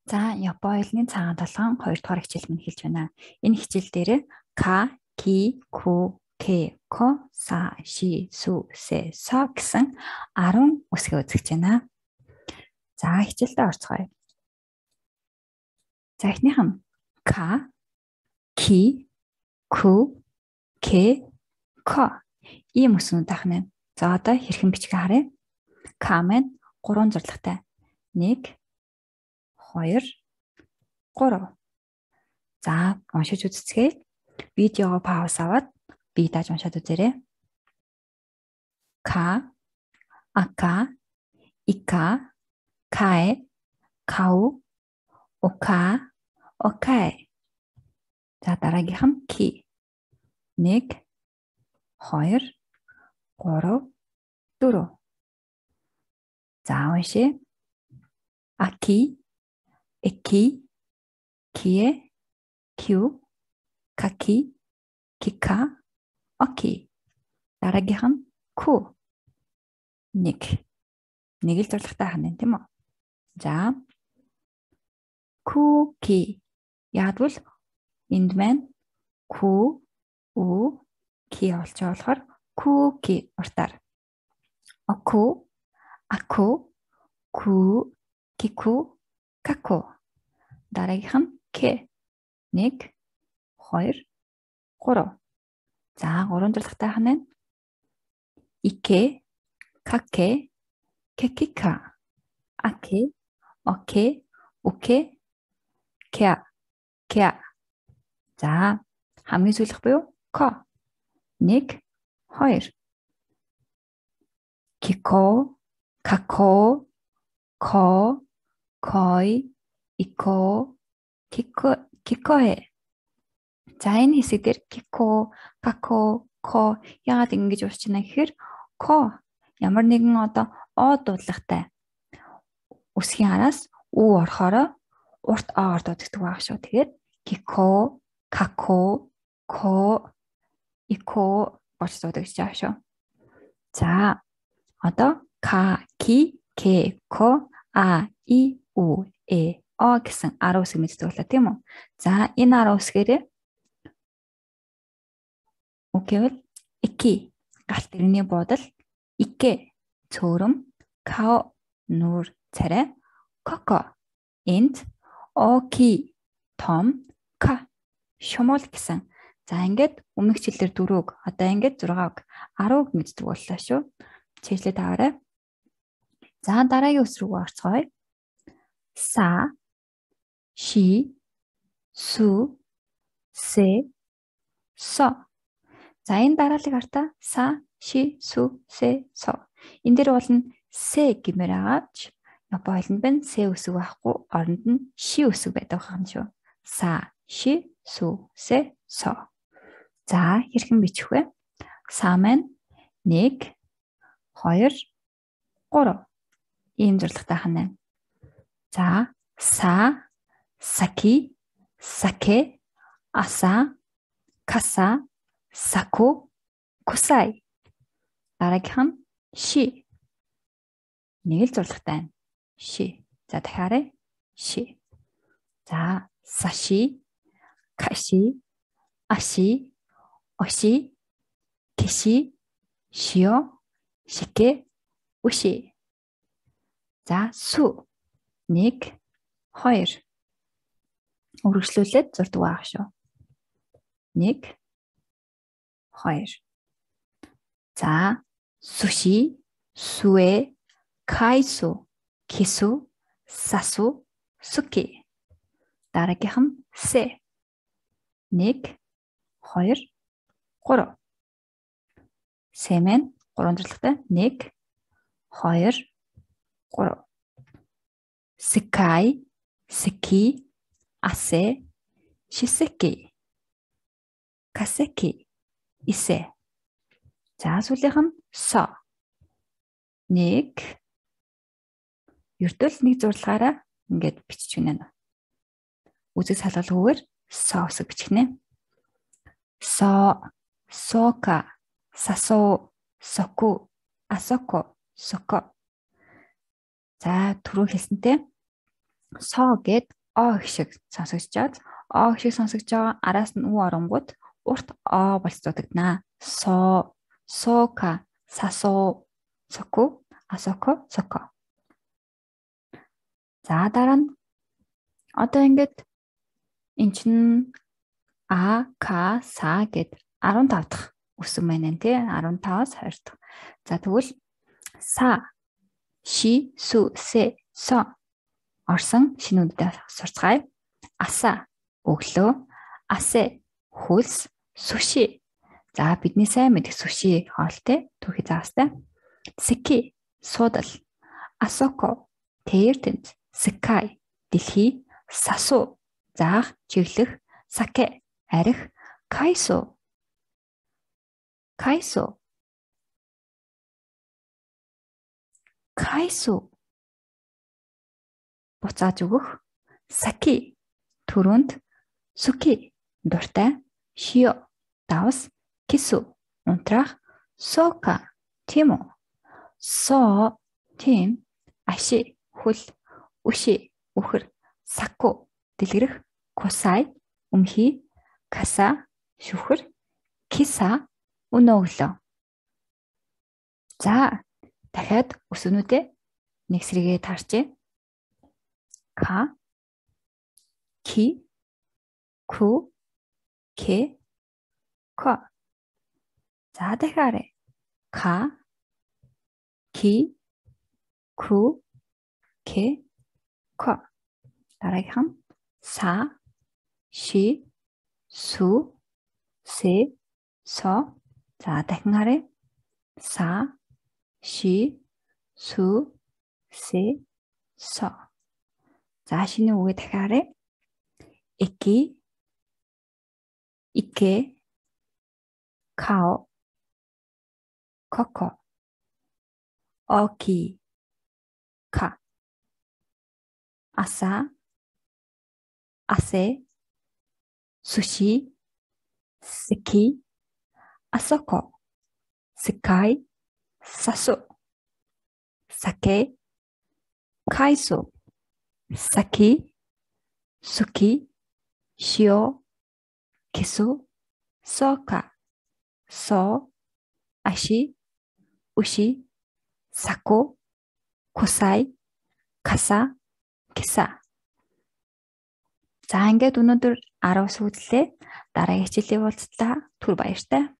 За, Япон хэлний цагаан толгойн 2 дугаар хичээл минь хэлж байна. Энэ хичээл дээр ка, ки, ку, ке, ко, са, ши, су, се, со гэсэн 10 үсгээ үзэж байна. За, хичээлдээ орцгоё. За, эхнийх нь ка, ки, ку, ке, ко. Ийм үснүүд ахна. За, одоо хэрхэн бичгээ харъя. К маань 3 зурлагтай. 1 2 3. За, уншиж үзцгээе. Видеого пауз аваад би дааж уншаад үзээрэй. Ка, ака, ика, каe, кау, ока, окай. За, дараагийнх нь ки. 1 2 3 4. За, уншъя. Аки, эки, кие, кю, каки, кика, оки. Дараагийнх нь ку. 1 л зурлагтай хань тийм үү? За. Куки. Яадвал энд маань ку, у, ки болж байгаа болохоор куки уртаар. Оку, аку, ку, кику, каку. Дараагийнх нь ке. 1 2 3. За, 3 зурлагтай хань. Ике, каке, кекика. Аке, оке, уке, кя, кя. За, хамгийн сүүлх буюу ко. 1 2. Кико, како, ко, кой, ико, кикоэ. За, энэ хэсэг дээр кико, како, ко яагаад ингэж уусч байна гэхээр ко ямар нэгэн одоо о дуудлагатай үсгийн араас у орохоор урт оор дууддаг байх шүү. Тэгэхээр кико, како, ко, ико болж дууддаг гэж байгаа шүү. За, одоо ка, ки, ке, ко, а, и, у, э, о гэсэн 10 үсэг мэддэг болоо тийм үү? За, энэ 10 үсгээрээ үгүйвэл ики галт иргэний буудал, ике цөөрөм, као нүүр царай, коко энд, оки том, ка шумуул гэсэн. За, ингээд өмнөх хичээлээр 4-г, одоо ингээд 6-г, 10-г мэддэг боллоо шүү. Чийжлээд аваарай. За, дараагийн үс рүү орцгоё. Са, ши, су, се, со. За, энэ дараалыг хартаа са, ши, су, се, со. Энэ дээр болно се гэмээр агаач. Япон хэлэнд байна се үсэг байхгүй, оронд нь ши үсэг байдаг юм шүү. Са, ши, су, се, со. За, хэрхэн бичих вэ? Са маань 1 2 3. Ийм зурлагтай хана. За, са, саки, саке, аса, каса, саку, кусай. Дараагийнх нь ши. 1 л зурлагтай. Ши. За, дахиарай. Ши. За, саши, каши, аши, оши, киши, шио, шике, уши. За, су. 1 2. Үргэлжлүүлээд зурдаг байх шүү. 1 2. За, суши, суэ, кайсу, кису, сасу, суки. Дараагийнх нь се. 1 2 3. Се маань 3 зурлагтай. 1 2 3. Секай, секи, асе, шисеки, касеки, исе. За, сүүлийнх нь со. 1 ердөө л 1 зурлагаараа ингээд бичиж гинэ. Үзэг салгалгүйгээр со үсэг бичихнэ. Со, сока, сасо, соку, асоко, соко. За, түрүү хэлсэнтэй со гэд О шиг сонсогдож чад. О шиг сонсогдож байгаа араас нь уу оронгууд урт о болцоодогднаа. Сока, сасо, соку, асоко, соко. За дараа нь одоо ингээд эн чин а, к, са гэд 15 дахь үсэн байна тий. 15-аас 20 дахь. За тэгвэл са, ши, су, се, со орсон шинүүдэд сурцгаая. Аса өглөө, асе хөлс, суши. За бидний сайн мэдэх суши хоолтой түүхий заастай. Сики суудал, асоко тэртэнд, скай дэлхий, сасу заах, чиглэх, саке арих, кайсо буцааж өгөх, саки түрүүнд, суки дуртай, шио давс, кису унтраах, сока тийм үү. Со тийм, аши хөл, үши үхэр, саку дэлгэрэх, кусай өмхий, каса шүхэр, киса өнөө өглөө. За дахиад өсвөнүүдээ нэг сэргээ таарчээ. Ка, ки, ку, ке, ко. За дахиад ка, ки, ку, ке, ко. Дараагийнх нь са, ши, су, се, со. За дахин харъя. Са, ши, су, се, со. За шинэ үгээ дахиараа. Эки, ике, као, коко, оки, ка. Аса, асе, суши, сики, асоко, сикай, сасу, саке, кайсо, саки, суки, шио, кису, сока, со, аши, уши, саку, кусай, каса, киса. За ингээд өнөөдөр 10 сүүлдлээ. Дараагийн хичээлийн уулзалтаа түр баяртай.